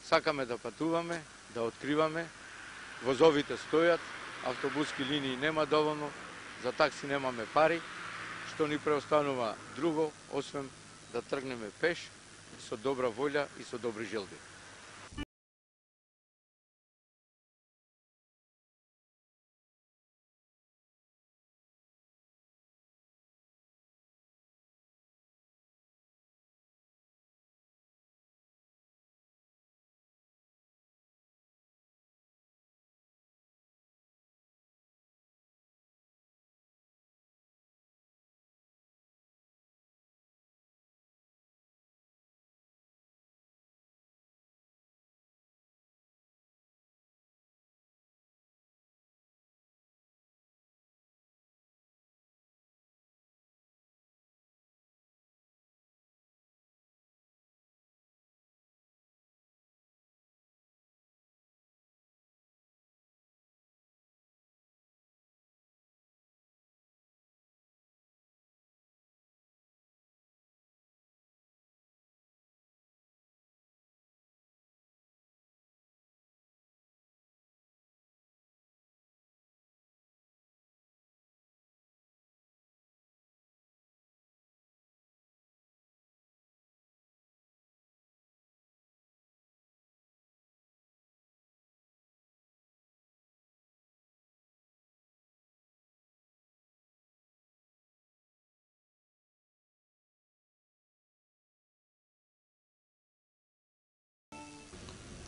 Сакаме да патуваме, да откриваме, возовите стојат, автобуски линии нема доволно, за такси немаме пари, што ни преостанува друго, освен да тргнеме пеш, со добра волја и со добри желби.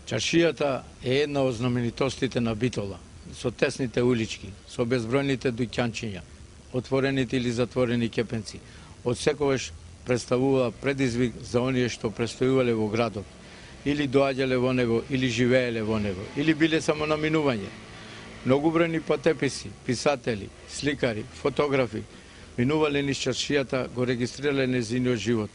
Чаршијата е една од знаменитостите на Битола, со тесните улички, со безбројните дуќанчиња, отворените или затворени кепенци. Од секогаш представува предизвик за оние што престојувале во градот, или доаѓале во него, или живееле во него, или биле само на минување. Многубројни патеписи, писатели, сликари, фотографи минувале низ чаршијата, го регистрирале незиниот живот.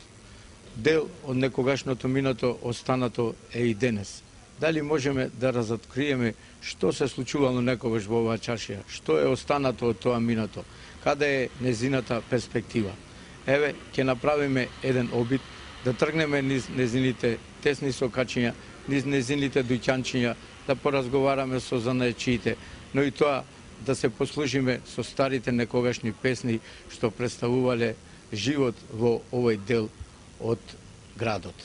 Дел од некогашното минато останато е и денес. Дали можеме да разоткриеме што се случувало некогаш во оваа чаршија, што е останато од тоа минато, каде е незината перспектива. Еве, ќе направиме еден обид да тргнеме низ незините тесни сокачиња, низ незините дуќанчиња, да поразговараме со занаечиите, но и тоа да се послужиме со старите некогашни песни што представувале живот во овој дел од градот.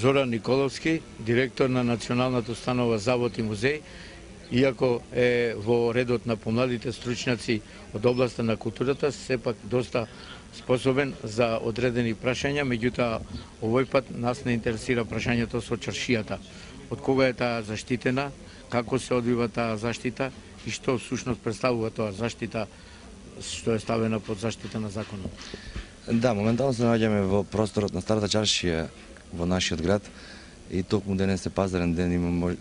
Зоран Николовски, директор на Националната установа Завод и музеј, иако е во редот на помладите стручњаци од областа на културата, сепак доста способен за одредени прашања, меѓутоа овој пат нас не интересира прашањето со чаршијата. Од кога е таа заштитена, како се одвива таа заштита и што всушност представува тоа заштита што е ставена под заштита на законот. Да, моментално се наоѓаме во просторот на Старата чаршија во нашиот град и токму денес е пазарен ден,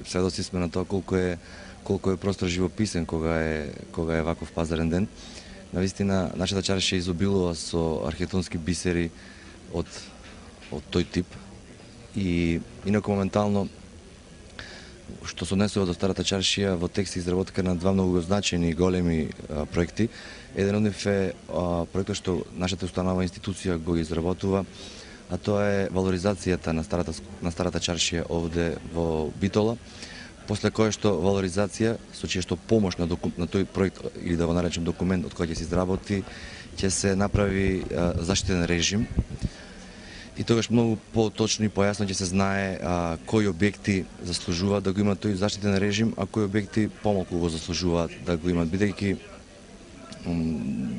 сведоци сме на тоа колку е простор живописен кога е ваков пазарен ден. Навистина, нашата чаршија изобилува со архитектонски бисери од тој тип и инаку моментално што се однесува до Старата чаршија, во текст е изработка на два многу значајни и големи проекти. Еден од нив е проектот што нашата установа институција го изработува, а тоа е валоризацијата на Старата чаршија овде во Битола, после кое што валоризација, со чија што помош на тој проект, или да го наречем документ од кој ќе се изработи, ќе се направи заштитен режим. И тогаш многу поточно и појасно ќе се знае кои објекти заслужуваат да го имат тој заштитен режим, а кои објекти помалку го заслужуваат да го имат, бидејќи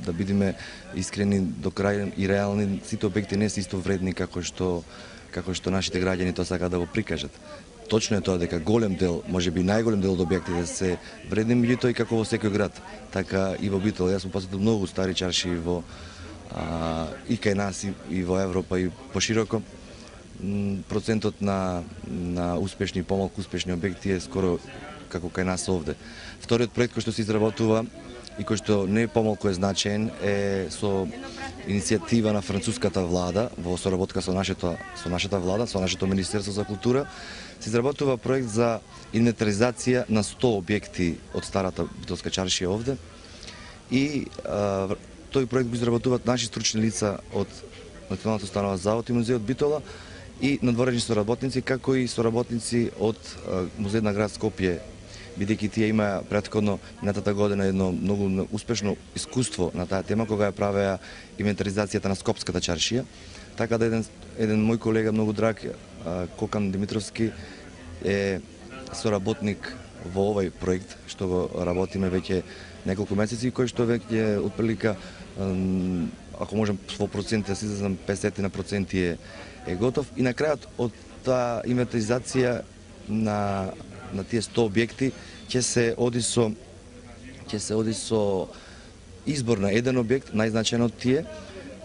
да бидеме искрени до крај и реални, сите објекти не се исто вредни како што нашите граѓани тоа сакаат да го прикажат. Точно е тоа дека голем дел, можеби најголем дел од објектите се вредни, меѓутоа и како во секој град, така и во Битола. Јас сум посетил многу стари чаршии и кај нас и во Европа и пошироко. Процентот на успешни и помалку успешни објекти е скоро како кај нас овде. Вториот проект кој што се изработува и кој што не помалку е значаен е со иницијатива на француската влада во соработка со нашата влада, со нашето Министерство за култура, се изработува проект за инвентаризација на 100 објекти од Старата битолска чаршија овде и тој проект го изработуваат наши стручни лица од Националната установа Завод и музеј од Битола и надворешни соработници, како и соработници од Музеј на град Скопје, бидејќи тие имаа претходно минатата година едно многу успешно искуство на таа тема кога ја правеа инвентаризацијата на Скопската чаршија. Така да еден мој колега многу драг, Кокан Димитровски, е соработник во овој проект што го работиме веќе неколку месеци, кој што веќе отприлика, ако можем во проценти да се изразам, 50% е готов. И на крајот од таа инвентаризација на тие 100 објекти ќе се оди со избор на еден објект, најзначаен од тие,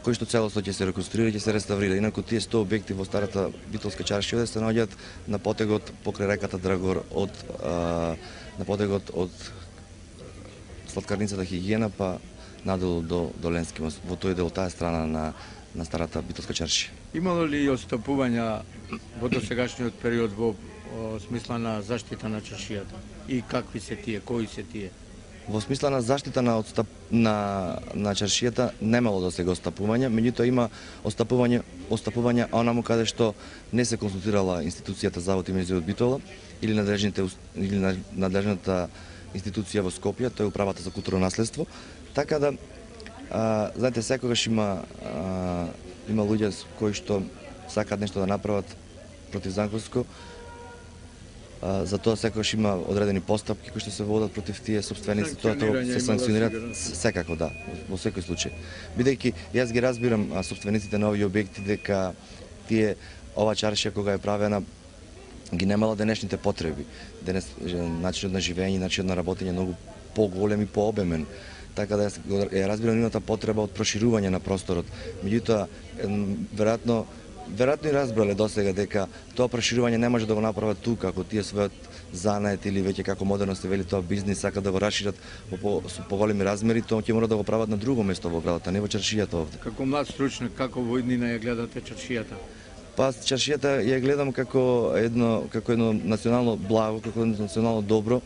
кој што целосно ќе се реконструира и ќе се реставрира. Инаку тие 100 објекти во Старата битолска чаршија се наоѓаат на потегот покрај реката Драгор на потегот од Сладкарницата Хигиена па надолу до Ленски мост, во тој дел, таа страна на Старата битолска чаршија. Имало ли отстапувања во досегашниот период во смисла на заштита на чаршијата? И какви се тие, кои се тие? Во смисла на заштита на чаршијата немало да сега отстапување, меѓутоа има отстапување онаму каде што не се консултирала институцијата Завод и музеј од Битола или надлежната институција во Скопје, тоа е управата за културно наследство. Така да, знаете, секогаш има луѓе кои што сакаат нешто да направат противзаконско. За тоа секогаш има одредени постапки кои што се водат против тие собственици, тоа се санкционираат секако, да, во секој случај. Бидејќи јас ги разбирам собствениците на овие објекти дека тие ова чаршија кога е правена ги немала денешните потреби. Денес начинот на живење, начинот на работење е многу поголем и пообемен. Така да ја разбирам нивната потреба од проширување на просторот. Меѓутоа, веројатно и разбрале досега дека тоа проширување не може да го направат тука, ако тие својот занает или веќе како модерно се вели тоа бизнис сакат да го расшират со поголеми размери, тоа ќе мора да го прават на друго место во градот, а не во чаршијата овде. Како млад стручник, како во иднина ја гледате чаршијата? Па чаршијата ја гледам како едно национално благо, како едно национално добро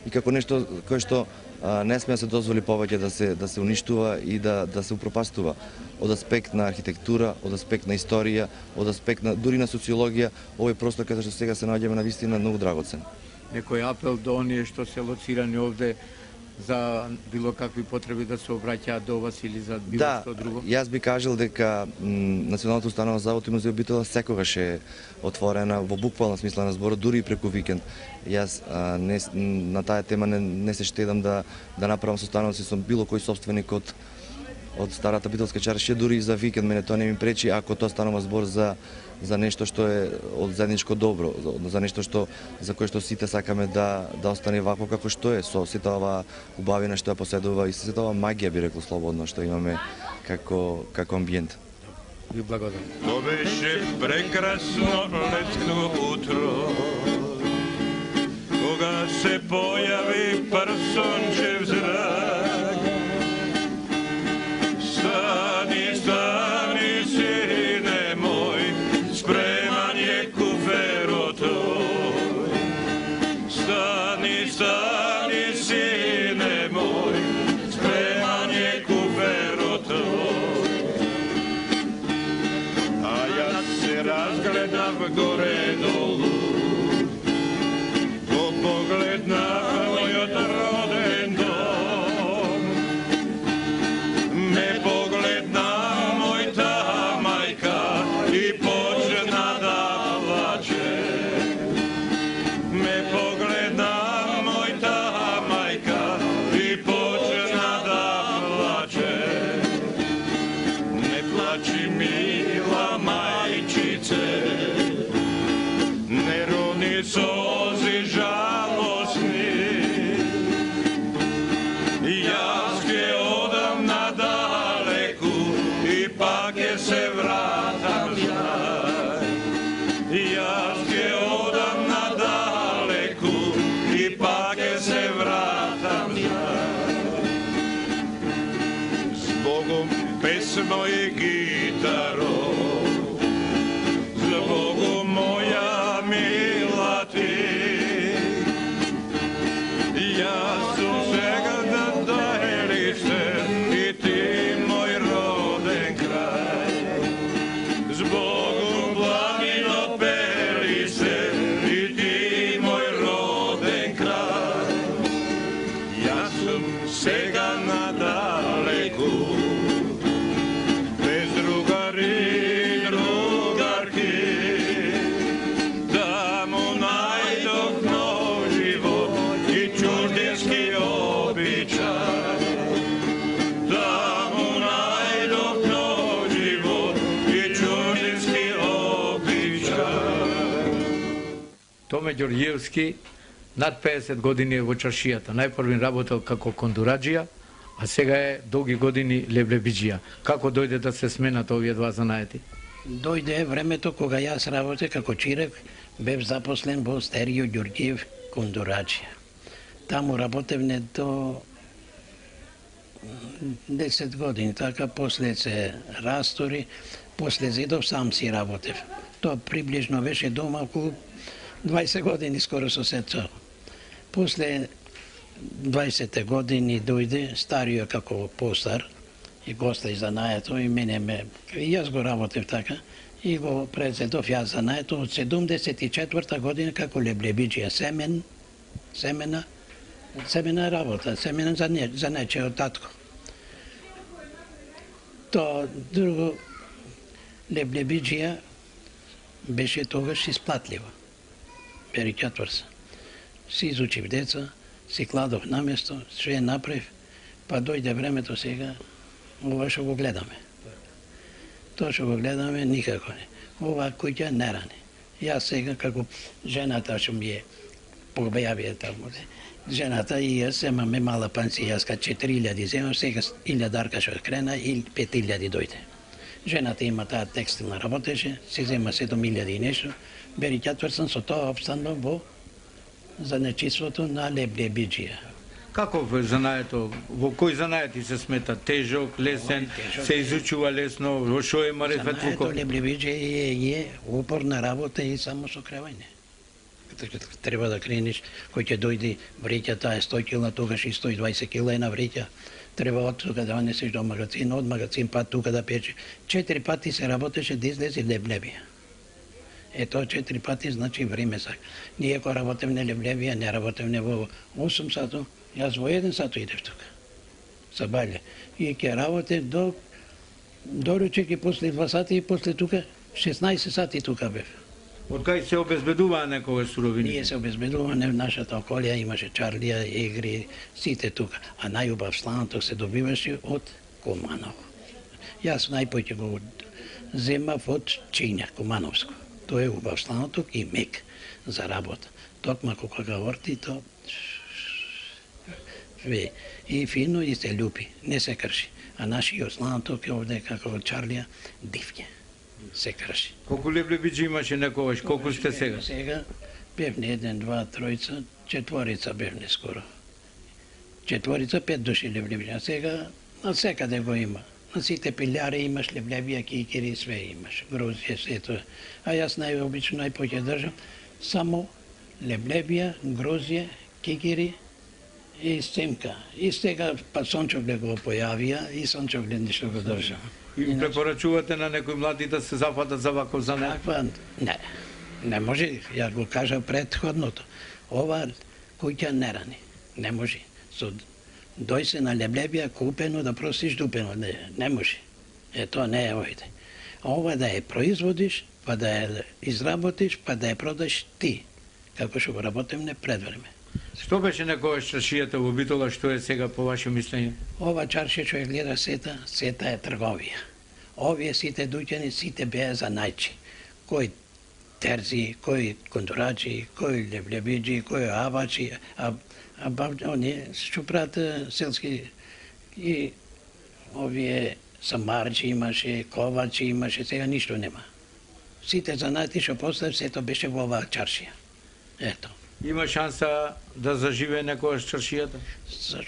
и како нешто кое што не сме да се дозволи повеќе да се уништува и да се упропастува. Од аспект на архитектура, од аспект на историја, од аспект на дури на социологија, овој простор каде што сега се наоѓаме на вистина многу драгоцен. Некој апел до оние што се лоцирани овде за било какви потреби да се обраќаат до вас или за било Да, што друго? јас би кажал дека Националната установа за аутизм и Битола секогаш е отворена во буквална смисла на зборот, дури и преку викенд. Јас на таа тема не се штедам да направам состаноци со било кој сопственик од старата битолска чаршија, дури и за викенд. Мене тоа не ми пречи ако тоа станува збор за нешто што е од заедничко добро, за нешто за кое што сите сакаме да остане вакво како што е, со сите ова убавина што ја поседува и сите ова магија, би рекол слободно, што имаме како амбиент. Ви благодарам. To беше прекрасно летно утро, кога се појави парсончев зрак. Стани, стани, сине мој, спреман е куферот тој. Стани, стани, сине мој, спреман е куферот тој. А јас се разгледав горе-долу, во поглед на мојот роден дом. Ме погледна мојта мајка и почна да плаче. Ме погледна мојта мајка и почна да плаче. Не плачи, мила мајчице, не рони сози жалосни. Јас ќе одам надалеку и пак ќе се вратам знај. Јас ќе одам надалеку и пак ќе се вратам знај. Збогом песно и гитаро, збогом моја мила ти. Јас сум сега на таелиšte и ти мој роден крај. Збогом планино пелиšte и ти мој роден крај. Јас сум сега надалеку, без другари и другарки. Таму најдов нов живот и чуждински обичај. Таму најдов нов живот и чуждински обичај. Томе Ѓорѓиевски над 50 години е во чаршијата. Најпрви работел како кондураџија, а сега е долги години леблебиџија. Како дојде да се сменат овие два занаети? Дојде времето кога јас работех како чирев, бев запослен во Стерио Ѓорѓиев кондураџија. Таму работевме до 10 години, така после се растори, после зидов сам си работев. Тоа приближно беше дома околу 20 години скоро со сето. После 20 години дојде Старио како постар и гости занаето и мене и јас го работев така и го презедов јас занаето од 74 година како леблебиџија семена работа, семена за нече од татко. То друго леблебиџија беше тогаш исплатливо. Перикјатврса. Си изучив деца, си кладов на место, све направив, па дојде времето сега, ова што го гледаме. Тоа што го гледаме никако не. Ова куќа не рани. Јас сега како жената што ми е побејави таму, жената и јас имаме мала пенсија, јас кај 4000 земам, сега 1000 што крена и 5000 дојде. Жената има таа текстилна работеше, се зема 7000 и нешто, Перикјатврсен со тоа обстанувам во занечиството на леблебиџија. Како во занаето, во кој занаети се смета? Тежок, лесен, се изучува лесно, во шо е марифет? Занаето леблебиџија е упорна работа и само со кревање. Треба да крениш, кој ќе дојде вреќата е 100 кила, тогаш и 120 кила е на вреќа. Треба од тука да несеш до магазин, од магазин пат тука да пече. 4 пати се работеше да излезе леблебија. Ето 4 пати, значи време сак. Ние кога работевме Левлевија, не работевме во 8 сату, јас во 1 сату идев тука. Сабајле. И ќе работев до ручек и после 2 сати и после тука 16 сати тука бев. Од кај се обезбедуваа некогаш суровини? Ние се обезбедуваме в нашата околија, имаше чарлија, игри, сите тука. А најубав сланоток се добиваше од Куманово. Јас најпоќе го земав од Чинја, Кумановско. Тоа е убав сланоток и мек за работа. Токма кога ga орти, то и фино и се љупи, не се крши. А нашиот сланоток е овде како чарлија, дивке. Се крши. Колку левлебиџи имаше некогаш, колку сте сега? Сега бевне 1, 2, 3, 4 бевне скоро. 4, 5 души левлебиџи, а сега на секаде го има. На сите пилјари имаш левлебија, кикири, све имаш. Грозија, сето. А јас најобично најпоќе држам само левлебија, грозје, кикири и семка. И сега па сончогле го појавија и сончогле ништо го држам. И препорачувате на некои млади да се зафатат за ваков занет? Таква, не може, ја го кажа предходното. Ова куќа не рани, не може. Дој се на левлебија купено да просиш дупено, не може. Тоа не е овде. А ова да ја производиш, па да ја изработиш, па да ја продаш ти, како што го работевме пред време. Што беше некогаш чаршијата во Битола, што е сега по ваше мислење? Ова чаршија што ја гледа сета е трговија. Овие сите дуќани, сите беа за најчи. Кој терзи, кој кондурачи, кој левлебиџи, кој авачи, оние што прават селски и овие самарчи имаше, ковачи имаше, сега ништо нема. Сите занаати што поставив, сето беше во оваа чаршија. Ето. Има шанса да заживее некогаш чаршијата?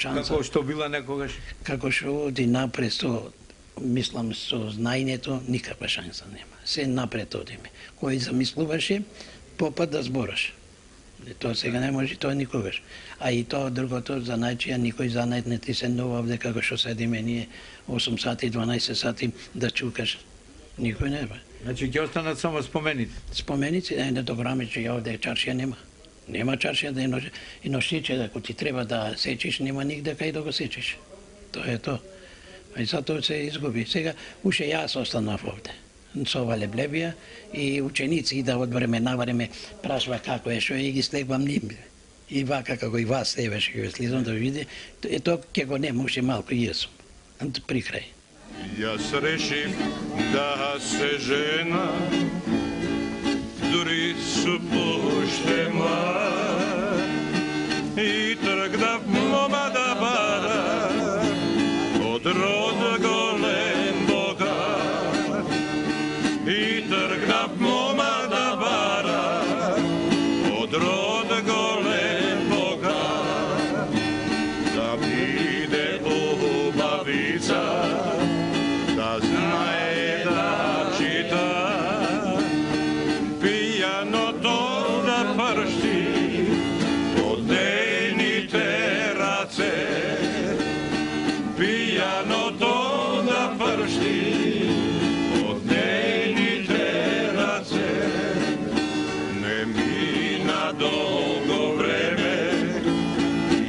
Како што била некогаш? Како што оди напред со, мислам, со знаењето, никаква шанса нема. Се напред одиме. Кој замислуваше, попад да збораш. Тоа сега не може, тоа никогаш. А и тоа другото занајчија, никој занајт не ти се нова овде како што седиме ние 8 сати, 12 сати да чукаш. Никој не бе. Значи ќе останат само спомените? Споменици, не добраме, че овде чаршија нема. Нема чаршија да и ношиче, ако ти треба да сечиш, нема нигде кај да го сечиш. Тоа е тоа. И затоа се изгуби. Сега уште јас останав овде. Со ова левлебија и ученици да од време на време прашува како е, што е и ги слегвам ним. И вака како и вас евеше ќе слизам да види, тоа ќе го нема уште малку и јас сум. При крај. Јас решив да се жена, дури су поштема, и тргнав мома да бара од род голем богат. И тргнав мома да бара од род голем богат, да биде убавица, да знае да чита, пијаното да пршти од нейните раце, пијаното да пршти од нейните раце. Не мина долго време,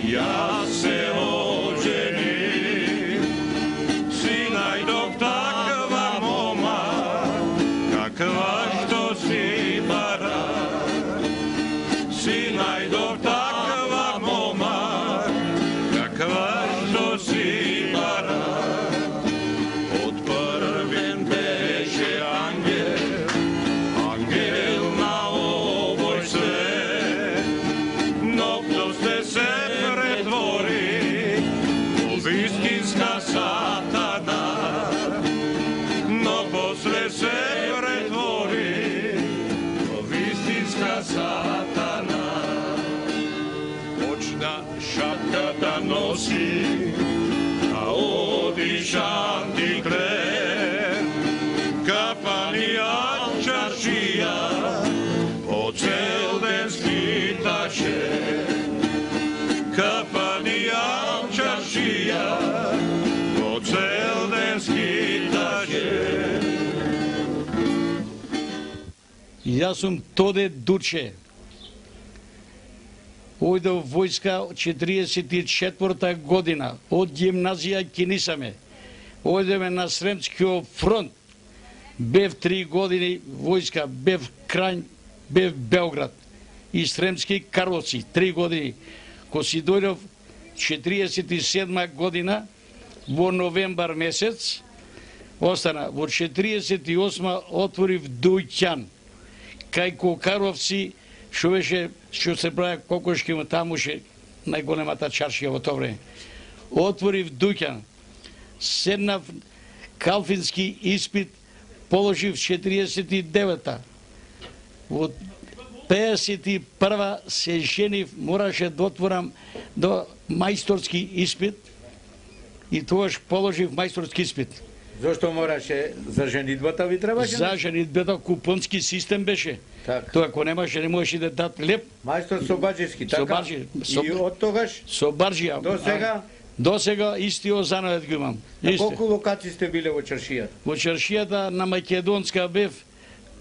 јас се оженив, си најдов таква мома, каква што си бара. Си најдов таква мома, каква што си бара. Од првен беше ангел, ангел на овој свет, но после се претвори во вистинска сатана, но после се претвори во вистинска сатана. Почна шапка да носи, а одиш антиклер, капанија чаршија, по цел ден скиташе. Капанија чаршија, по цел ден скиташе. Јас сум Тоде Дуче. Ојдов војска 44 година, од гимназија кинисаме. Ојдеме на Сремскиот фронт. Бев 3 години војска, бев Крањ, бев Белград и Сремски Карловци, 3 години. Ко си дојдов 47 година, во новембар месец, остана. Во 48 отворив дуќан. Кај Кокаровци, што се прави кокошки, таму ше најголемата чаршија во тоа време. Отворив дуќан. Седнав калфински испит, положив 49-та. Во 51-ва се женив, мораше да отворам до мајсторски испит и тогаш положив мајсторски испит. Зошто мораше за женидбата ви требаше? За женидбата купонски систем беше. Так. Тоа ако немаше, не можеше да дадат леп. Мајстор Собаџиски, така? Собаџи. И од тогаш? Собаџија. До сега? До сега истиот занавет го имам. На колку локации сте биле во чаршијата? Во чаршијата на Македонска бев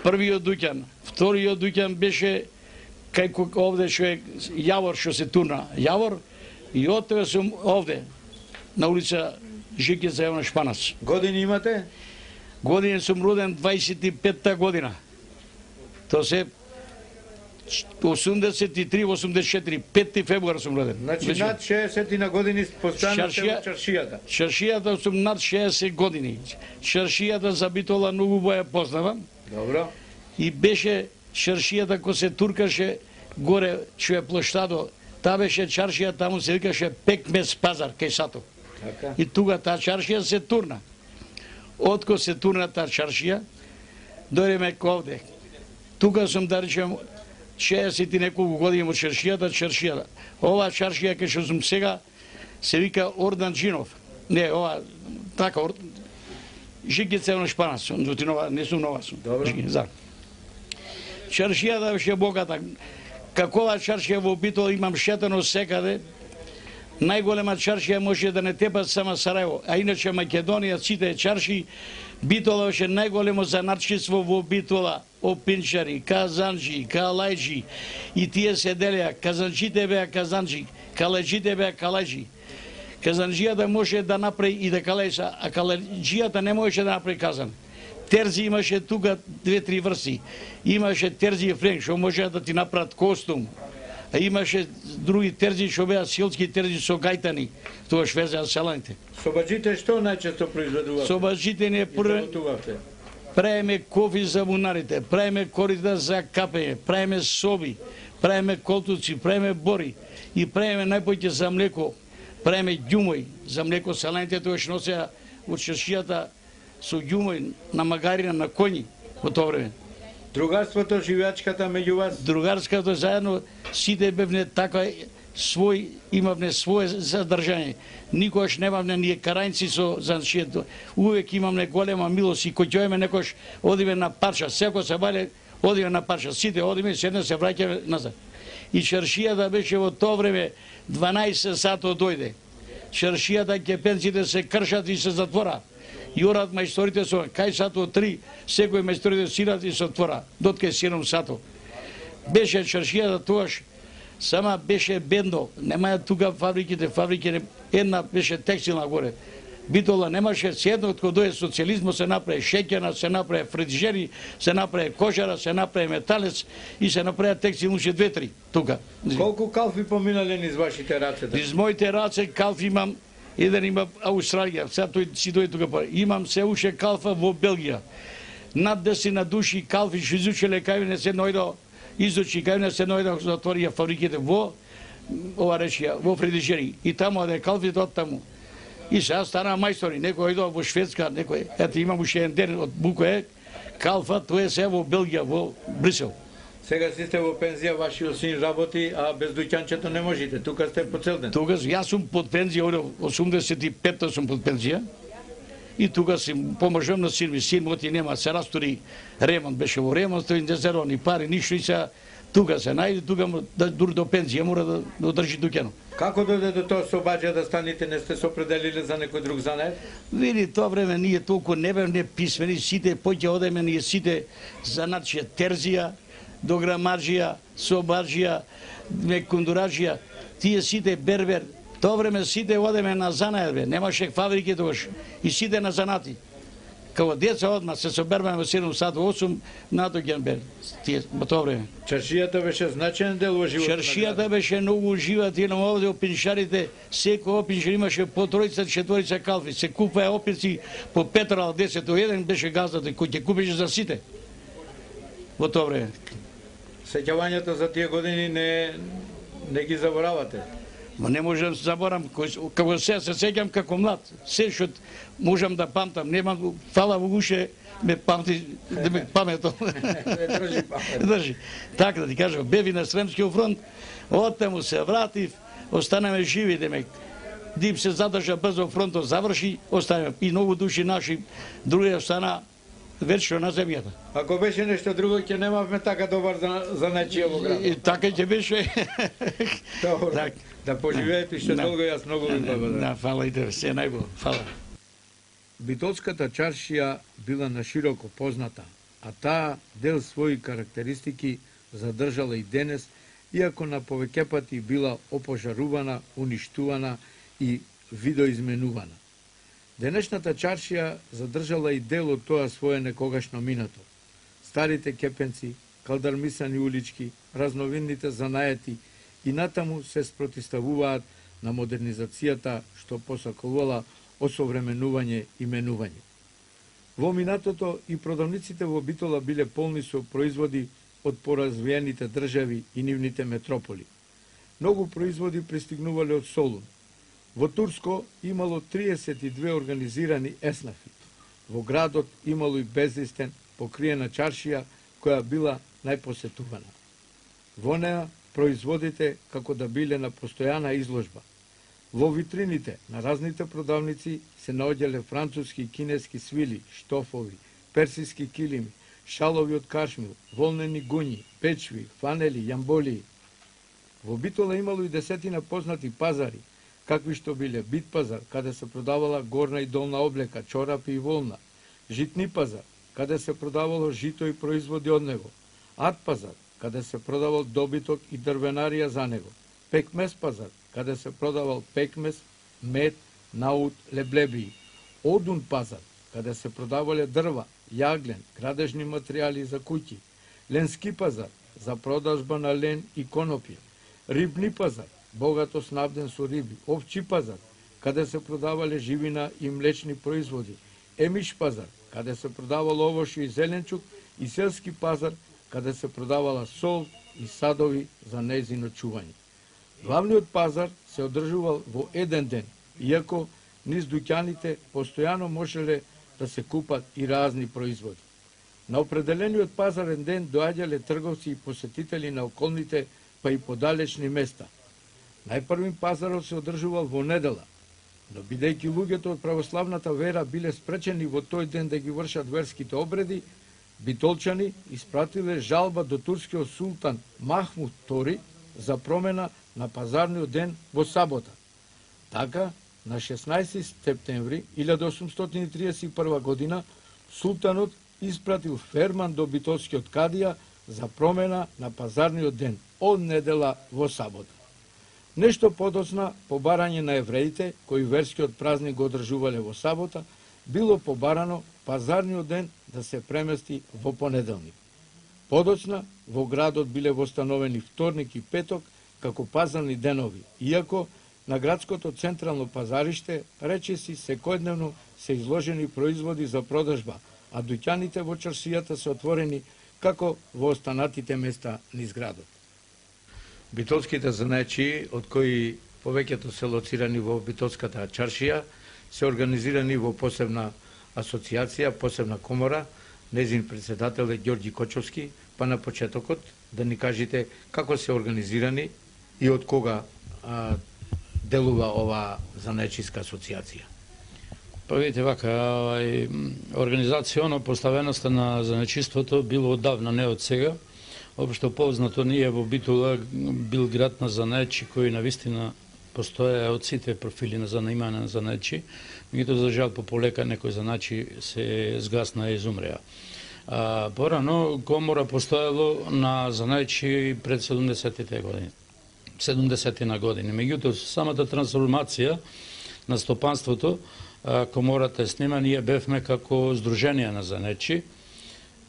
првиот дуќан. Вториот дуќан беше кај овде што е Јавор што се турна. Јавор и од тоа сум овде на улица Жикица Јовна Шпанац. Години имате? Години сум роден 25-та година. Тоа се 83-84, 5 февруар сум роден. Значи над 60 на години постојано сте во чаршијата. Чаршијата сум над 60 години. Чаршијата за Битола многу ја познавам. Добро. И беше чаршијата кој се туркаше горе што е плоштадо. Та беше чаршија, таму се викаше Пекмес пазар кај Сато. Така. И тука таа чаршија се турна. Отко се турна таа чаршија, дојдеме ковде. Тука сум да речем 60 и неколку години во чаршијата. Ова чаршија кај што сум сега се вика Ордан Джинов. Не, ова така Жикица Јовна Шпанац, не сум нова сум. Добро. Чаршијата беше богата. Какова чаршија во Битола имам шетано секаде. Најголема чаршија може да не тепат само Сараево, а иначе Македонија, сите чарши, Битола беше најголемо занатчиство во Битола, опинчари, казанджи, калајджи, и тие се делеа, казанджите беа казанджи, калајджите беа калајджи. Казанджијата може да направи и да калајса, а калајджијата не можеше да направи казан. Терзи имаше тука 2-3 врсти. Имаше терзи и френк, што може да ти направат костум. А имаше други терзи што беа силски терзи со гајтани, тоа везеа селаните. Собаџите што најчесто произведувате? Собаџите не правиме кофи за бунарите, правиме корита за капење, правиме соби, правиме колтуци, правиме бори и правиме најпоќе за млеко, правиме ѓумој за млеко. Селаните тоа што носеа од чаршијата со ѓумој на магарина, на коњи во тоа време. Другарството, живеачката меѓу вас? Другарското заедно сите бевне така имавне свое задржање. Никогаш немавне ние карањци со заншието. Увек имавне голема милост и кој ќојме некош одиме на парча, секој се бале одиме на парча, сите одиме, седне се враќаме назад. И чаршијата беше во тоа време 12 сато дојде. Чаршијата кепенците се кршат и се затвора. Јорат мајсторите со кај сато 3, секој мајсторите сират и се отвора, доткај 7 сато. Беше чаршијата тогаш, сама беше бедно, немаја тука фабриките, една беше текстилна горе. Битола немаше, седно од кој дојде социјализмот се направи шеќерна, се направи фризери, се направи кожара, се направи металец и се направи текстил уште 2-3 тука. Колку калфи поминале низ вашите раце? Низ моите раце калфи имам. Еден има Аустралија, сега тој си дојде тука. Имам се уште калфа во Белгија. Над 10 души калфи што изучиле кај мене се наојдо, изучи кај мене се наојдо, затворија фабриките во ова речија, во фризери. И таму оде калфите од таму. И сега стана мајстори, некој ојдо во Шведска, некој, ето имам уште еден ден од Букое, калфа, тоа е се во Белгија, во Брисел. Сега си сте во пензија, вашиот син работи, а без дуќанчето не можете. Тука сте по цел ден. Тука јас сум под пензија, од 85-та сум под пензија. И тука си поможам на син ми. Син моти нема, се растори ремонт, беше во ремонт, тој не зеро ни пари, ништо, и се тука се најде, тука дури до пензија мора да одржи дуќано. Како дојде до тоа Собаџа да станете, не сте се определиле за некој друг занает? Види, тоа време ние толку не бевме писмени, сите поќе одеме ние сите за наче терзија, до грамаджија, собаджија, кондураджија, тие сите бербер, тоа време сите одеме на занајбе, немаше фабрики тогаш, и сите на занати. Као деца одма се соберваме во 7 сат, 8 надоѓан бе тие во тоа време. Чаршијата беше значаен дел во животот. Чаршијата беше многу животина овде во пеншарите, секој опиншар имаше по тројца, четворица калфи, се купаа опинци по 5 ал 10, еден беше газдата кој ќе купеше за сите. Во тоа време. Сеќавањето за тие години не ги заборавате. Ма не можам да се заборам, како се сеќам како млад, се што можам да памтам, немам фала во уше, ме памти, да ме памето. Држи памет. Држи. Така да ти кажам, беви на Сремскиот фронт, оттаму се вратив, останеме живи, демек. Дип се задржа брзо фронтот заврши, останеме и многу души наши, други остана вечно на земјата. Ако беше нешто друго, ќе немавме така добар за нечија во градот. И така ќе беше. Добро. Так. Да поживеете уште долго, јас многу ви благодарам. Да, фала и тебе, се најбо, фала. Битолската чаршија била нашироко позната, а таа дел своји карактеристики задржала и денес, иако на повеќе пати била опожарувана, уништувана и видоизменувана. Денешната чаршија задржала и дел од тоа свое некогашно минато. Старите кепенци, калдармисани улички, разновидните занаети и натаму се спротиставуваат на модернизацијата што посакувала осовременување и менување. Во минатото и продавниците во Битола биле полни со производи од поразвиените држави и нивните метрополи. Многу производи пристигнувале од Солун. Во Турско имало 32 организирани еснафи. Во градот имало и безлистен покриена чаршија која била најпосетувана. Во неа производите како да биле на постојана изложба. Во витрините на разните продавници се наоѓале француски и кинески свили, штофови, персиски килими, шалови од кашмил, волнени гуњи, печви, фанели, јамболии. Во Битола имало и десетина познати пазари, какви што биле Бит пазар, каде се продавала горна и долна облека, чорапи и волна, Житни пазар, каде се продавало жито и производи од него, Ад пазар, каде се продавал добиток и дрвенарија за него, Пекмес пазар, каде се продавал пекмес, мед, наут, леблебии, Одун пазар, каде се продавале дрва, јаглен, градежни материјали за куќи, Ленски пазар, за продажба на лен и конопје, Рибни пазар, богато снабден со риби, Овчи пазар, каде се продавале живина и млечни производи, Емиш пазар, каде се продавало овошје и зеленчук, и Селски пазар, каде се продавала сол и садови за нејзино чување. Главниот пазар се одржувал во еден ден, иако низ дуќаните постојано можеле да се купат и разни производи. На определениот пазарен ден доаѓале трговци и посетители на околните, па и подалечни места. Најпрвин пазарот се одржувал во недела, но бидејќи луѓето од православната вера биле спречени во тој ден да ги вршат верските обреди, битолчани испратиле жалба до турскиот султан Махмуд II за промена на пазарниот ден во сабота. Така, на 16 септември 1831 година, султанот испратил ферман до битолскиот кадија за промена на пазарниот ден од недела во сабота. Нешто подоцна, побарање на евреите, кои верскиот празник го одржувале во сабота, било побарано пазарниот ден да се премести во понеделник. Подоцна, во градот биле востановени вторник и петок како пазарни денови, иако на градското централно пазариште речиси секојдневно се изложени производи за продажба, а дуќаните во чаршијата се отворени како во останатите места низ градот. Битолските занаечи, од кои повеќето се лоцирани во Битолската чаршија, се организирани во посебна асоциација, посебна комора. Нејзин председател е Ѓорѓи Кочовски, па на почетокот да ни кажете како се организирани и од кога делува ова занаечиска асоциација. Па видите вака, организацијно поставеноста на занаечиството било оддавна, не од сега. Општо познато ние во Битола бил град на занаечи кој навистина постоја од сите профили на занаимање на занаечи, меѓутоа за жал по полека некои занаечи се згасна и изумреа. Порано комора постоело на занајчи пред 70-тите години. 70-ти на години. Меѓутоа, самата трансформација на стопанството, комората е снима, ние бевме како Сдружение на занајчи,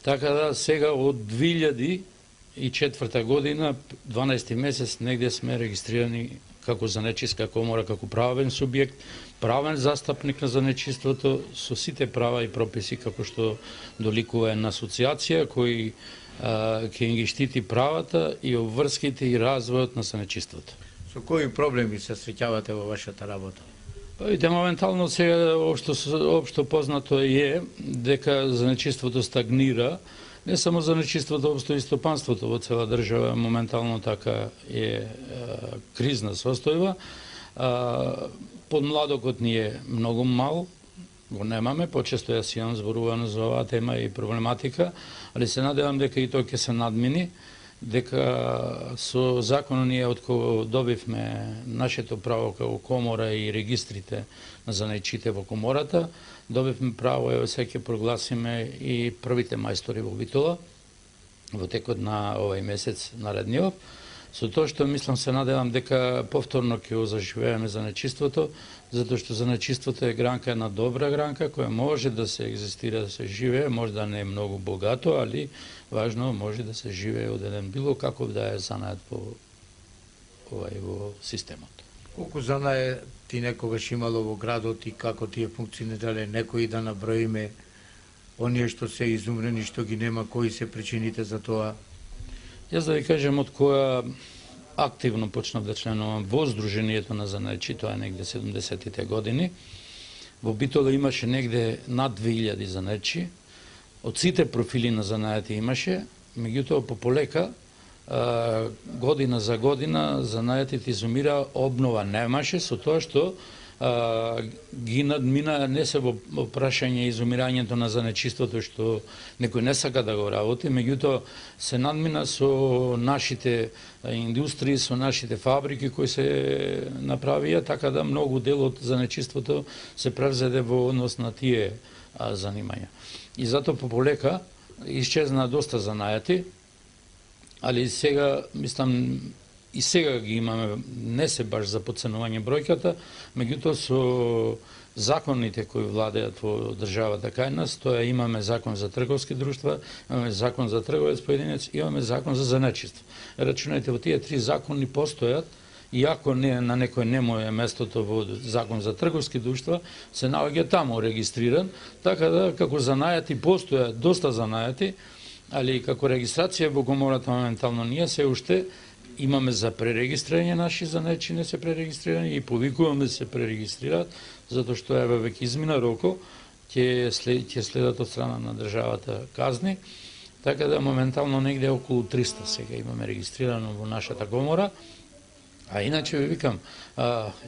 така да сега од 2004 година, 12 месец, негде сме регистрирани како занајчиска комора, како правен субјект, правен застапник на занајчиството, со сите права и прописи како што доликува една асоциација кој ќе ги штити правата и обврските и развојот на занајчиството. Со кои проблеми се среќавате во вашата работа? Видите, моментално сега општо познато е дека занајчиството стагнира, не само занајчиството, општо и стопанството во цела држава моментално така е кризна состојба. Подмладокот ни е многу мал, го немаме, почесто јас имам зборувано за оваа тема и проблематика, али се надевам дека и тој ќе се надмини, дека со законот ние од кога добивме нашето право како комора и регистрите на занајчите во комората, добивме право, ево сега ќе прогласиме и првите мајстори во Битола во текот на овај месец наредниот. Со тоа што мислам се надевам дека повторно ќе го заживееме занајчиството, затоа што занајчиството е гранка, една добра гранка која може да се екзистира, да се живее, може да не е многу богато, али важно може да се живее од еден било каков да е занајат во системот. Колку занајати некогаш имало во градот и како тие функционирале, некои да наброиме оние што се изумрени, што ги нема, кои се причините за тоа? Јас да ви кажем од која активно почнав да членувам во Сдруженијето на занајчи, тоа е негде 70-тите години. Во Битола имаше негде над 2000 занајчи. Од сите профили на занајати имаше, меѓутоа полека, година за година, занајатите изумира, обнова немаше, со тоа што ги надмина не се во прашање изумирањето на занајчиството што некој не сака да го работи, меѓутоа се надмина со нашите индустрии, со нашите фабрики кои се направија, така да многу дел од занајчиството се превзеде во однос на тие занимања. И затоа полека исчезна доста занајати, али сега, мислам, и сега ги имаме, не се баш за подценување бројката, меѓутоа со законите кои владеат во државата кај нас, тоа имаме закон за трговски друштва, имаме закон за трговец поединец, имаме закон за занајчиство. Рачунајте, во тие три закони постојат, иако не на некој не му е местото во закон за трговски друштва, се наоѓа таму регистриран, така да како занајати постојат доста занајати, али како регистрација во комората моментално ние се уште имаме за пререгистрирање наши занајчи не се пререгистрирани и повикуваме да се пререгистрираат, затоа што еве веќе измина роко, ќе следат од страна на државата казни, така да моментално негде околу 300 сега имаме регистрирано во нашата комора. А иначе ви викам,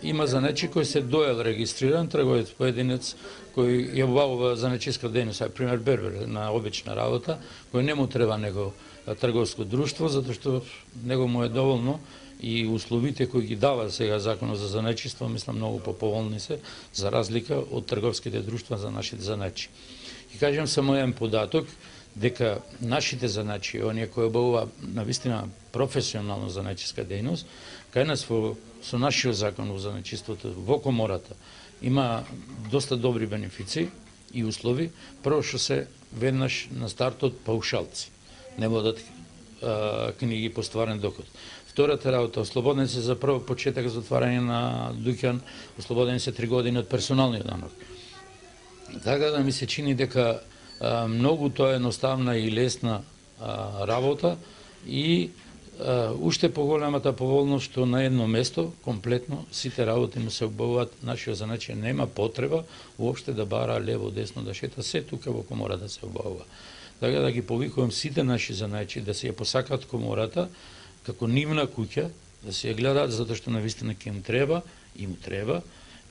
има занајчи кој се доел регистриран, трговец поединец кој ја обавува занајчиска дејност, пример бербер на обична работа, кој не му треба него трговско друштво, затоа што него му е доволно и условите кои ги дава сега законот за занајчиство, мислам многу поповолни се, за разлика од трговските друштва за нашите занајчи. И кажем само еден податок, дека нашите занајчи, оние кои обавува навистина професионално занајчиска дејност, кај нас со нашиот закон во занајчиството во комората има доста добри бенефици и услови. Прво што се веднаш на стартот паушалци, не водат книги по стварен доход. Втората работа, ослободен се за прво почеток за отварање на дуќан, ослободен се 3 години од персоналниот данок. Така да ми се чини дека многу тоа е едноставна и лесна работа и уште поголемата поволност што на едно место, комплетно, сите работи му се обавуваат, нашиот занајчи нема потреба уопште да бара лево, десно, да шета, се тука во комора да се обавува. Така да ги повикувам сите наши занајчи да се ја посакат комората како нивна куќа, да се ја гледаат, затоа што навистина ќе им треба.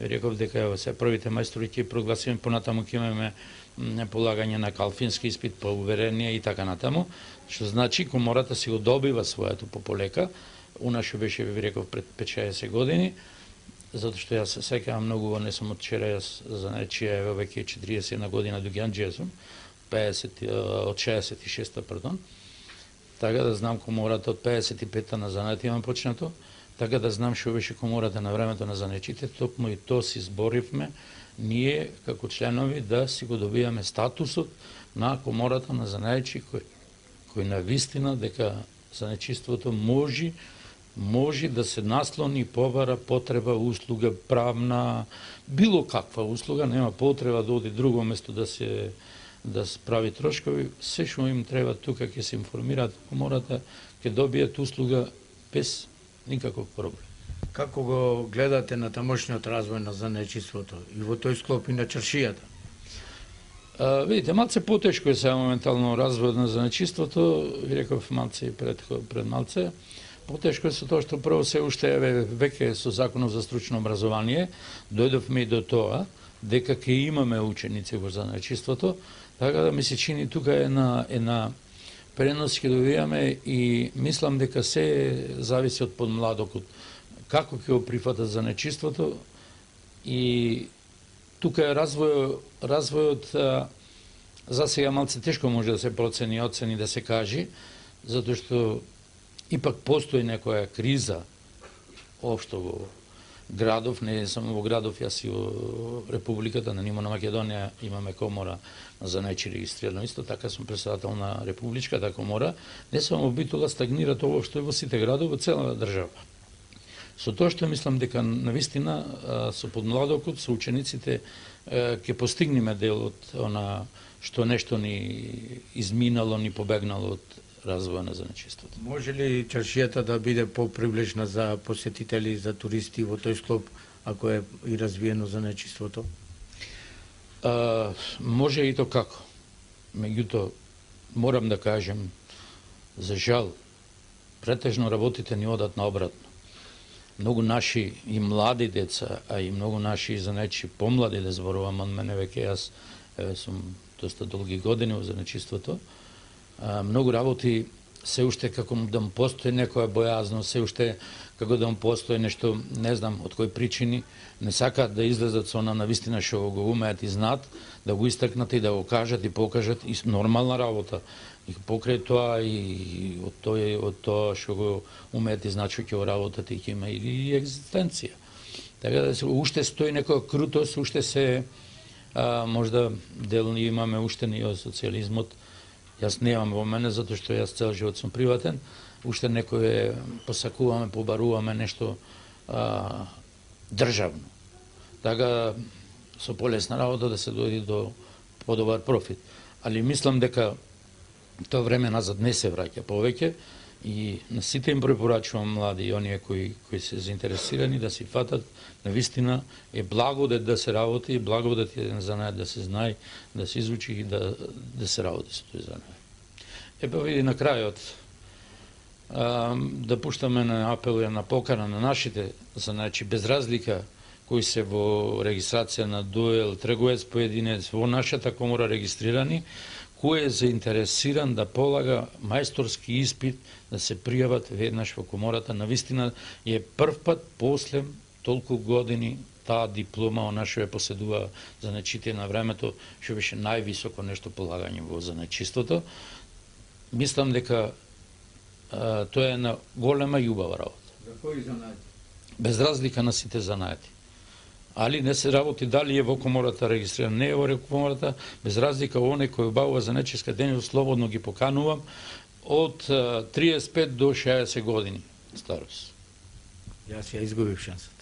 Реков дека ево се првите мајстори ќе прогласиме, понатаму ќе имаме полагање на калфински испит, по уверение и така натаму, што значи комората си го добива своето пополека. Унашо беше, ви реков, пред 5-60 години, затоа што јас се сеќавам многу, не сум од вчера, јас занајчија, ево веќе 40 година дуѓанџија сум, од 66-та, пардон. Така да знам комората од 55-та на занати имам почнато, така да знам што беше комората на времето на занечите, токму и то си зборивме ние како членови да си го добијаме статусот на комората на занаечи кој на вистина дека занечиството може да се наслони, побара потреба, услуга, правна, било каква услуга, нема потреба да оди друго место да се прави трошкови, се што им треба тука ќе се информираат комората, ќе добијат услуга без никаков проблем. Како го гледате на тамошниот развој на занечиството и во тој склоп и на чаршијата? Видите, малце потешко е сега моментално развојот на занечиството, ви реков малце и пред малце. Потешко е со тоа што прво се уште веќе со законот за стручно образование дојдовме и до тоа дека ќе имаме ученици во занечиството, така да ми се чини тука една пренос ќе добијаме и мислам дека се зависи од подмладокот како ќе го прифатат занечиството и тука е развојот за сега малце тешко може да се процени, оцени да се кажи, затоа што ипак постои некоја криза општо во градов, не само во градов, јас и во Републиката, на ниво на Македонија имаме комора на занечи регистрирано, исто така сум председател на Републичката комора, не само во Битола стагнира тоа што е во сите градови во целата држава. Со тоа што мислам дека навистина со подмладокот, со учениците ќе постигнеме дел од она што нешто ни изминало, ни побегнало од развоја на занечиството. Може ли чаршијата да биде попривлечна за посетители, за туристи во тој склоп, ако е и развиено занечиството? Може и то како. Меѓутоа, морам да кажем, за жал, претежно работите ни одат наобратно. Многу наши и млади деца, а и многу наши занечи помлади, да зборувам од мене, веќе јас сум доста долги години во занечиството, многу работи се уште како да му постои некоја бојазност, се уште како да му постои нешто, не знам од кои причини, не сакаат да излезат со она навистина што го умеат и знаат, да го истакнат и да го кажат и покажат и нормална работа. И покрај тоа и од тоа што го умеат и знаат што ќе го работат и ќе има и екзистенција. Така да уште стои некоја крутост, уште се можда дел имаме уште ни од социјализмот. Јас немам во мене затоа што јас цел живот сум приватен, уште некој посакуваме, побаруваме нешто државно. Така со полесна работа да се дојде до подобар профит. Али мислам дека тоа време назад не се враќа повеќе и на сите им препорачувам млади и оние кои се заинтересирани да си фатат, навистина е благодет да се работи, благодет е занает да се знае, да се изучи и да се работи со тој занает. Епа види на крајот да пуштаме на апел и на покана на нашите занајчи без разлика кои се во регистрација на дуел, трговец, поединец, во нашата комора регистрирани, кој е заинтересиран да полага мајсторски испит, да се пријават веднаш во комората. Навистина е прв пат после толку години таа диплома она што ја поседува занечите на времето, што беше највисоко нешто полагање во занечиството. Мислам дека тоа е една голема и убава работа. За кои занаети? Без разлика на сите занаети. Али не се работи дали е во комората регистриран, не е во комората, без разлика оне кој обавува занечиска дејност, слободно ги поканувам од 35 до 60 години старост. Јас ја изгубив шансата.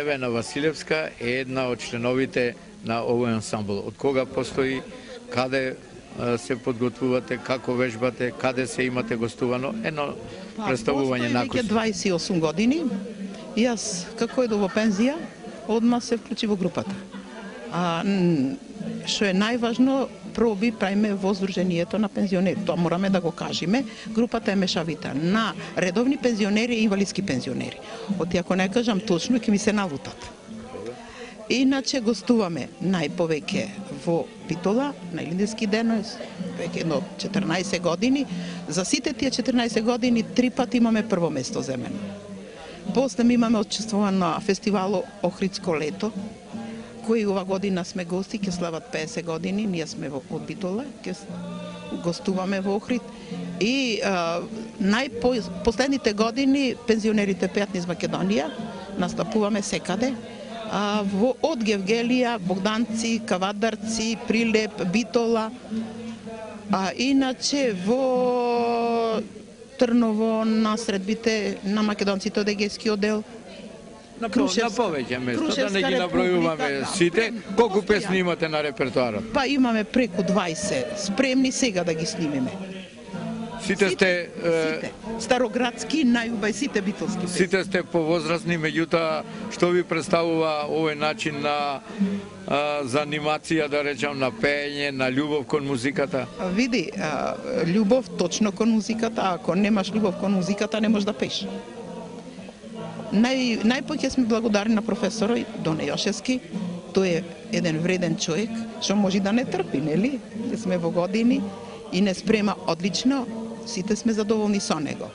Невена Василевска е една од членовите на овој ансамбл. Од кога постои, каде се подготвувате, како вежбате, каде се имате гостувано, едно представување на Постои веќе 28 години. Јас, како едо во пензија, одма се вклучи во групата. Што е најважно, проби правиме во Сдруженијето на пензионери. Тоа мораме да го кажеме. Групата е мешавита на редовни пензионери и инвалидски пензионери. Оти ако не кажам точно, ќе ми се налутат. Иначе гостуваме најповеќе во Битола, на Илинденски ден, веќе едно 14 години. За сите тие 14 години 3 пати имаме прво место земено. После имаме учествувано на фестивало Охридско лето, кој ова година сме гости, ќе слават 50 години, ние сме од Битола, ќе гостуваме во Охрид. И последните години пензионерите пеат низ Македонија, настапуваме секаде. Од Гевгелија, Богданци, Кавадарци, Прилеп, Битола. Иначе во Трново на средбите на македонците од Егејскиот дел. На повеќе место, да не ги набројуваме сите. Колку песни имате на репертоарот? Па имаме преку 20, спремни сега да ги снимиме. Сите сте староградски, најубај сите битолски песни. Сите сте повозрасни, меѓутоа што ви представува овој начин на за анимација, да речам, на пеење, на љубов кон музиката? Види, љубов точно кон музиката, ако немаш љубов кон музиката не можеш да пееш. Најпоќе сме благодарни на професорот Доне Јошевски. Тој е еден вреден човек, што може да не трпи, нели? Сме во години и не спрема одлично, сите сме задоволни со него.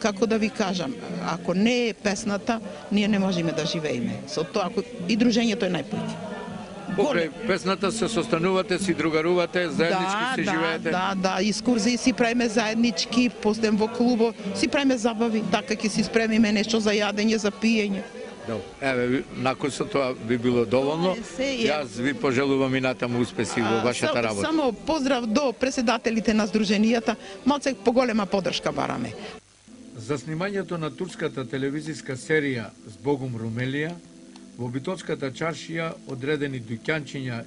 Како да ви кажам, ако не е песната, ние не можеме да живееме. Со тоа, и дружењето е најпоќе. Покрај песната се состанувате, си другарувате, заеднички си живеете? Да, искурзии си правиме заеднички, постем во клубо, си правиме забави, така ќе си спремиме нешто за јадење, за пиење. Еве, након со тоа би било доволно. Јас ви пожелувам и натаму успеси во вашата работа. Само поздрав до председателите на Сдруженијата, малце поголема поддршка бараме. За снимањето на турската телевизиска серија Збогум Румелија, во Битолската чаршија одредени дуќанчиња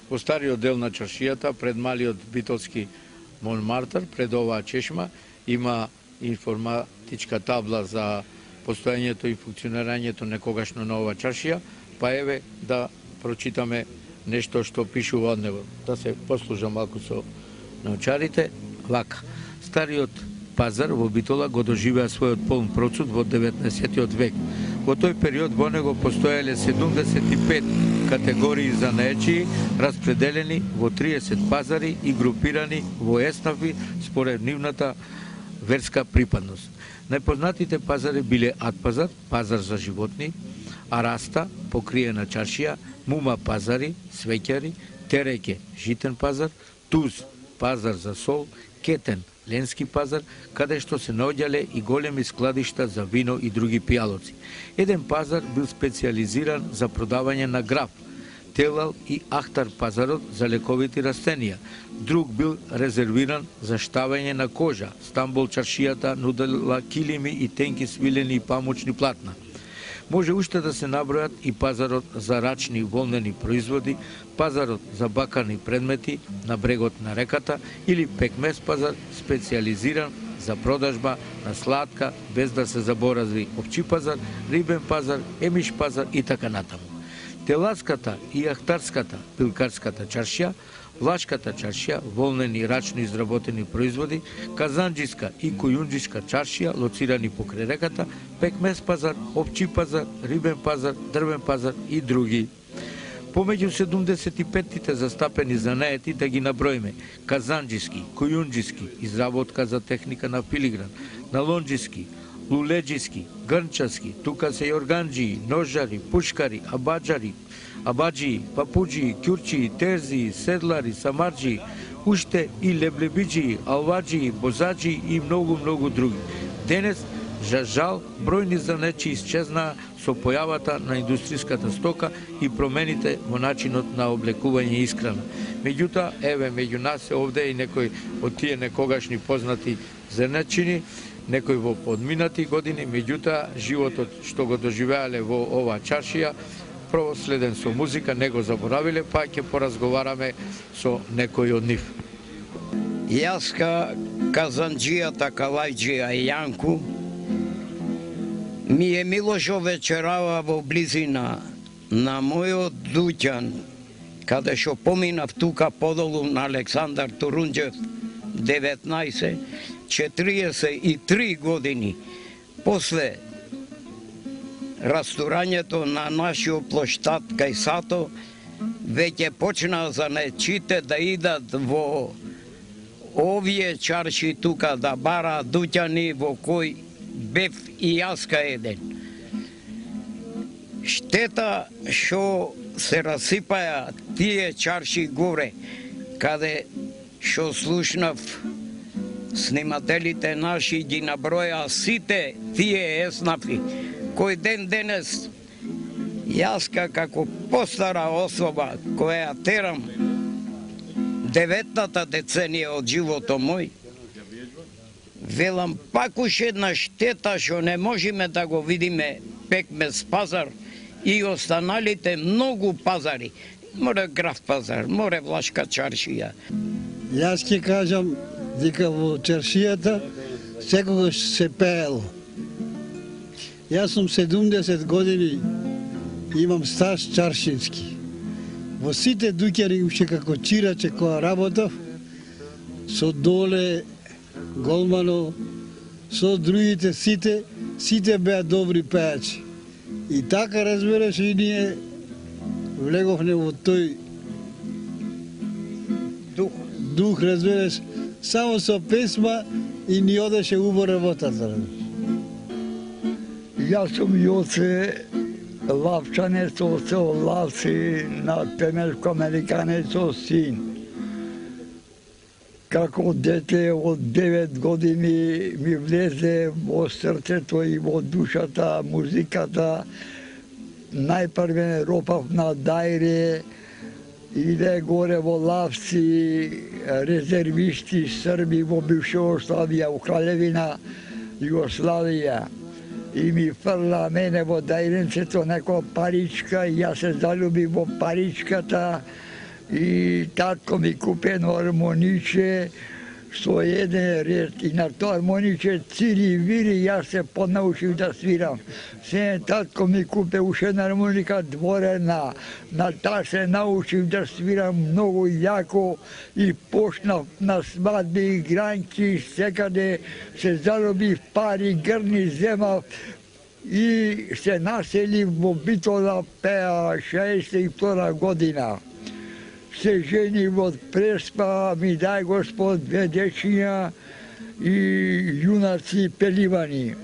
Во стариот дел на чаршијата, пред малиот битолски Монмартр, пред оваа чешма, има информатичка табла за постоењето и функционирањето некогашно на оваа чаршија, па еве да прочитаме нешто што пишува од него. Да се послужам малку со научарите. Вака. Стариот пазар во Битола го доживеа својот полн процут во 19. век. Во тој период во него постоеле 75 категории занаечии, распределени во 30 пазари и групирани во еснафи според нивната верска припадност. Најпознатите пазари биле Атпазар, пазар за животни, Араста, покриена чаршија, Мума пазари, свеќари, Тереке, житен пазар, Туз, пазар за сол, Кетен, ленски пазар, каде што се наоѓале и големи складишта за вино и други пијалоци. Еден пазар бил специализиран за продавање на граф, Телал и Ахтар пазарот за лековити растенија. Друг бил резервиран за штавање на кожа. Стамбол чаршијата нудела килими и тенки свилени и памучни платна. Може уште да се набројат и пазарот за рачни волнени производи, пазарот за бакарни предмети на брегот на реката или пекмес пазар специализиран за продажба на сладка, без да се заборави опчи пазар, рибен пазар, емиш пазар и така натаму. Теласката и Ахтарската, пилкарската чаршија, Влашката чаршија, волнени рачно изработени производи, Казанџиска и Кујунџиска чаршија, лоцирани покрај реката, пекмес пазар, опчи пазар, рибен пазар, дрвен пазар и други. Помеѓу 75-тите застапени занаети да ги наброиме: Казанџиски, Кујунџиски, изработка за техника на филигран, Налонџиски, Лулеџиски, Грнчаски, тука се јорганџии, ножари, пушкари, абаџии, папуџии, ќурчии, терзии, седлари, самарџии, уште и леблебиџии, алваџии, бозаџии и многу други. Денес, за жал, бројни занечи исчезнаа со појавата на индустријската стока и промените во начинот на облекување и исхрана. Меѓутоа, еве, меѓу нас е овде и некој од тие некогашни познати зернечини, некој во подминати години, меѓутоа, животот што го доживеале во оваа чаршија, проследен со музика, не го заборавиле, па ќе поразговараме со некој од нив. Јаска Казанџијата Калајџија Јанку ми е Милошо вечерава во близина на мојот дуќан, каде што поминав тука подолу на Александар Турунџев 19, 43 години после растурањето на нашиот плоштад кај Сато, веќе почнаа занечите да идат во овие чарши тука да бараат дуќани во кој бев и јаска еден. Штета што се расипаја тие чарши горе, каде што слушнав снимателите наши ги наброја сите тие еснафи, кој ден денес јаска како постара особа која терам 9-та деценија од животот мој, велам пак уште една штета што не можеме да го видиме пекмес пазар и останалите многу пазари. Море граф пазар, море Влашка чаршија. Јас ќе кажам дека во чаршијата секогаш се пеело. Јас сум 70 години, имам стаж чаршински. Во сите дуќани уште како чираче која работав, со Доле, Голмано, со другите сите беа добри пејачи. И така разбереш и ние влеговме во тој дух, разбереш, само со песма и ни одеше убо работата. Јас сум Јоце Лавчанец, од село Лавци, на Темешко-Американецов син. Како дете од 9 години ми влезе во срцето и во душата музиката. Најпрвен ропав на Дајре, иде горе во Лавци, резервисти срби во бивша Југославија, у Кралевина Југославија. И ми фрла мене во дајренцето некоја паричка и јас се залюбив во паричката. и татко ми купи едно армониче со еден ред и на тоа армониче цири вири, јас се поднаучив да свирам. Се татко ми купи уште една армоника дворена, на таа се научив да свирам многу јако и почнав на свадби, игранки, секаде се заробив пари, грни земав и се населив во Битола, пеа 62 година. Се женив од Преспа, ми дај Господ 2 дечиња и јунаци пеливани.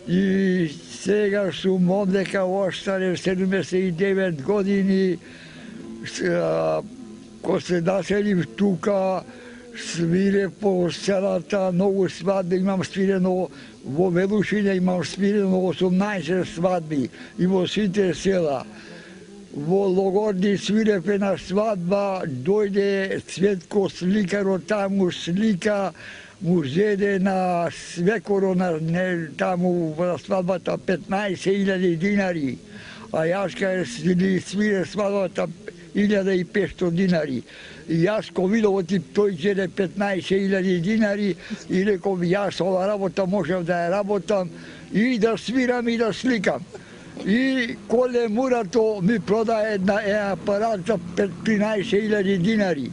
И сега сум одека остарев 79 години, ко се населив тука, свирев по селата, многу свадби имам свирено, во Велушине имам свирено 18 свадби и во сите села. Во Логорди свирев една свадба, дојде Цветко сликаро таму слика, му зеде на свекоро таму во свадбата 15.000 динари, а јас кај свире свадбата 1.500 динари. И јас ко видов тој зеде 15.000 динари и реков јас ова работа можев да ја работам и да свирам и да сликам. И Коле Мурато ми продаде една апарат за 13.000 динари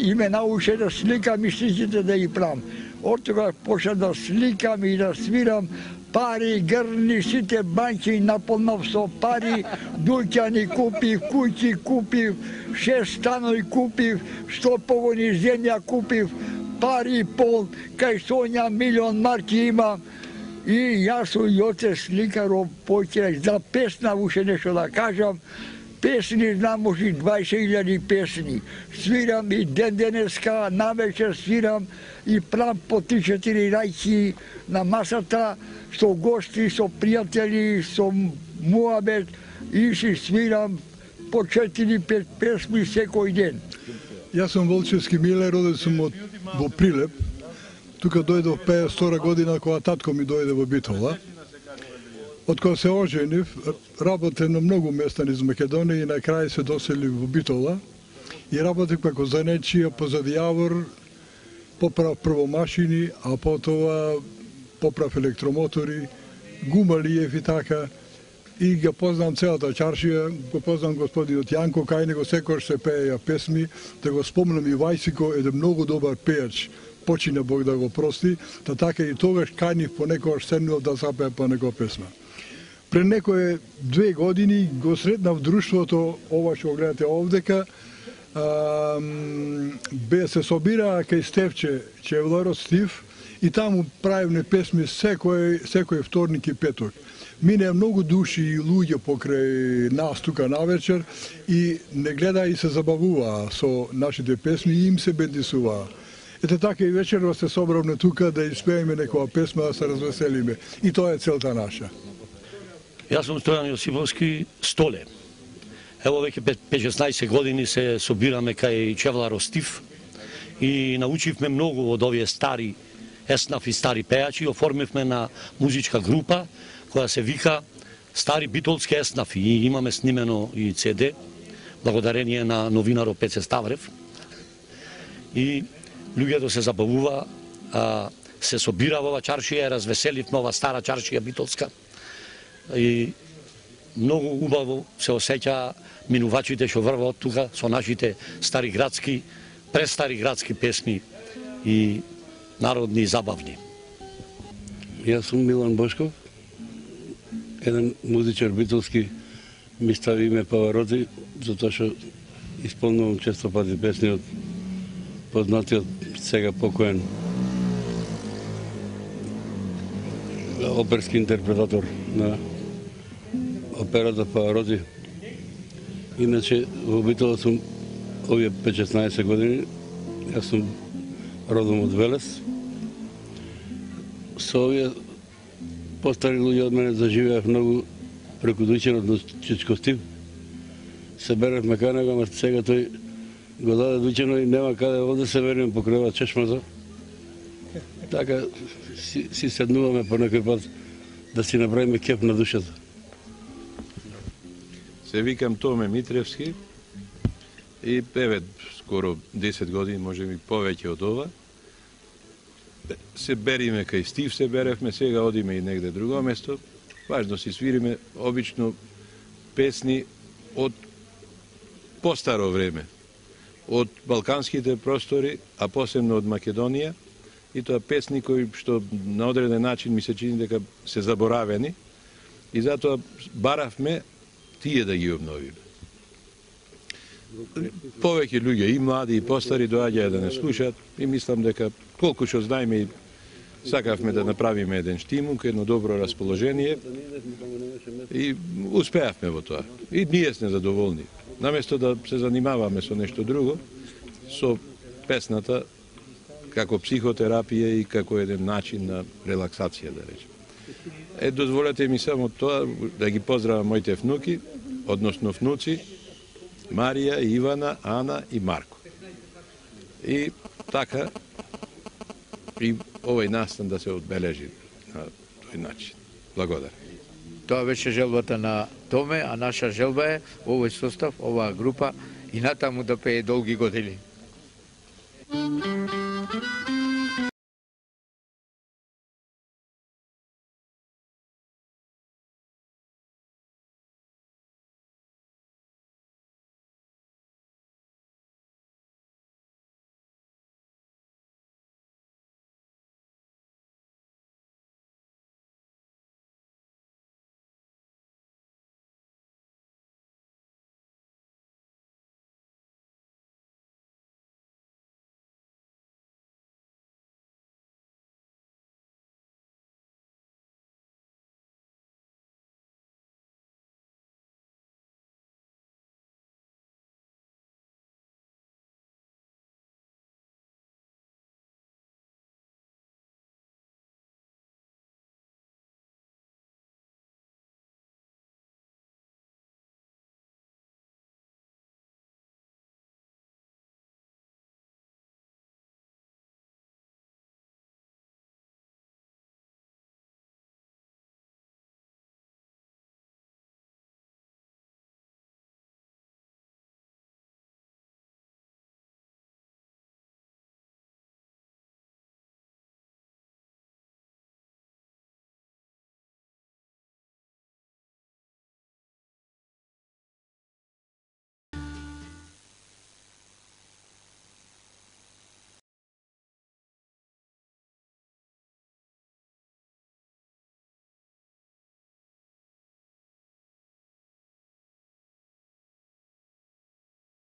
и ме научи да сликам и слиците да ги правам. Од тога почнав да сликам и да свирам, пари, грни, сите банки наполнав со пари, дуќани купив, куќи купив, 6 станови купив, 100 погони земја купив, пари пол, кај Сонја 1.000.000 марки имам. И јас и оце сликаро поќе за песна уште нешто да кажам. Песни знам може 20.000 песни. Свирам и ден денеска, навечер свирам и правам по 3-4 рајки на масата со гости, со пријатели, со муабет и си свирам по 4-5 песни секој ден. Јас сум Волчевски Миле, роден сум во Прилеп. Тука дојдов 52 година кога татко ми дојде во Битола. Од кога се оженив, работев на многу места низ Македонија и на крај се доселив во Битола и работев како занечија позади јавор, поправ прво машини, а потоа поправ електромотори, гумалиев и така. И ги познам целата чаршија, го познам господинот Јанко, кај него секојаш се пееја песми, да го спомнам и Вајсико, еден многу добар пејач, почина Бог да го прости, та така и тогаш канив понекогаш седнував да запеа по некоја песма. Пред некои 2 години го сретнав друштвото, ова што гледате овдека, се собираа кај Стефче Чевларот Стив и таму правевме песми секој вторник и петок. Минеа многу души и луѓе покрај нас тука навечер и не гледа и се забавуваа со нашите песми и им се бендисуваа. Ете така и вечерва се собравме тука да испееме некоја песма, да се развеселиме. И тоа е целта наша. Јас сум Стојан Јосиповски Столе. Ево веќе 5-16 години се собираме кај Чевларо Стив и научивме многу од овие стари еснаф и стари пејачи. Оформивме на музичка група која се вика Стари битолски еснафи и имаме снимено и CD, благодарение на новинаро Пеце Ставрев. И луѓето се забавува, се собира во ова чаршија, развеселивме ова стара чаршија битолска. И многу убаво се осеќа минувачите што врват тука со нашите стари градски, престари градски песни и народни и забавни. Јас сум Милан Бошков, еден музичар битолски, ми стави име Павароти, затоа што исполнувам често пати песни од познатиот сега покоен оперски интерпретатор на операта Павароти. Иначе во Битола сум овие 5-16 години, јас сум родом од Велес. Со овие постари луѓе од мене заживеав многу преку дуќенот на Чичко Стив. Се беревме кај него, ама сега тој го даде дуќено и нема каде овде се вериме покрај чешмата. Така си седнуваме по некој пат да си направиме кеп на душата. Се викам Томе Митревски И еве скоро 10 години, може би повеќе од ова. Се бериме кај Стив, се беревме, сега одиме и негде друго место. Важно си свириме обично песни од постаро време, од балканските простори, а посебно од Македонија, и тоа песни кои што на одреден начин ми се чини дека се заборавени, и затоа баравме тие да ги обновиме. Повеќе луѓе, и млади, и постари, доаѓаја да не слушаат, и мислам дека колку што знаеме и сакавме да направиме еден штимунг, едно добро расположение, и успеавме во тоа. И ние сме задоволни. Наместо да се занимаваме со нешто друго, со песната како психотерапија и како еден начин на релаксација, да речем. Дозволете ми само тоа, да ги поздравам моите внуки, односно внуци, Марија, Ивана, Ана и Марко. И така, и овој настан да се одбележи на тој начин. Благодарам. Тоа беше желбата на Томе, а наша желба е овој состав, оваа група и натаму да пее долги години.